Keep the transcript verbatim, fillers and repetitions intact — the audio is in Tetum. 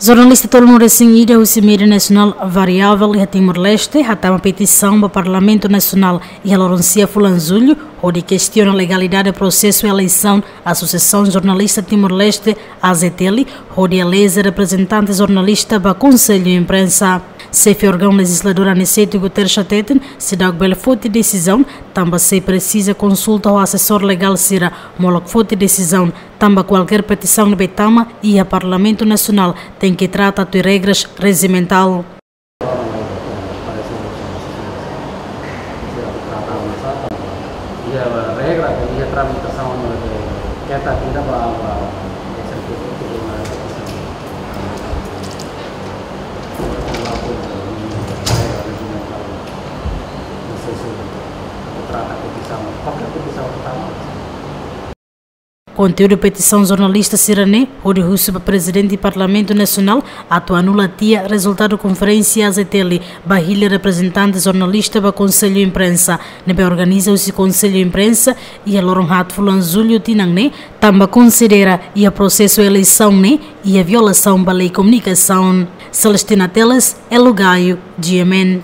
Jornalista tolunulu-resin-ida husi mídia nasionál variável iha Timor-Leste hatama petisaun ba Parlamentu Nasionál iha loron sia fulan Jullu, hodi kestiona legalidade prosesu eleisaun Asosiasaun Jornalista Timor-Leste, A J T L, hodi eleze reprezentante jornalista ba Konsellu Imprensa. Xefe órgaun lejizladór Aniceto Guterres hateten, seidauk bele foti desizaun, tanba sei presiza konsulta ho asesór legál sira molok foti desizaun, tanba kualkér petisaun ne'ebé tama iha Parlamentu Nasionál tenke trata tuir regras rejimentál. Iha regra, iha tramitasaun, keta tidak ba, ba, trata petisaun, kualkér petisaun pertama. Konteúdu petisaun jornalista sira-ne'e hodi husu ba Prezidente Parlamentu Nasionál atu anula tiha rezultadu konferénsia A J T L ba hili reprezentante jornalista ba Konsellu Imprensa, ne'ebé organiza husi Konsellu Imprensa iha loron haat fulan Jullu tinan ne'e, tanba konsidera iha prosesu eleisaun ne'e iha violasaun ba lei komunikasaun. Celestina Teles, Elo Gayo, G M N.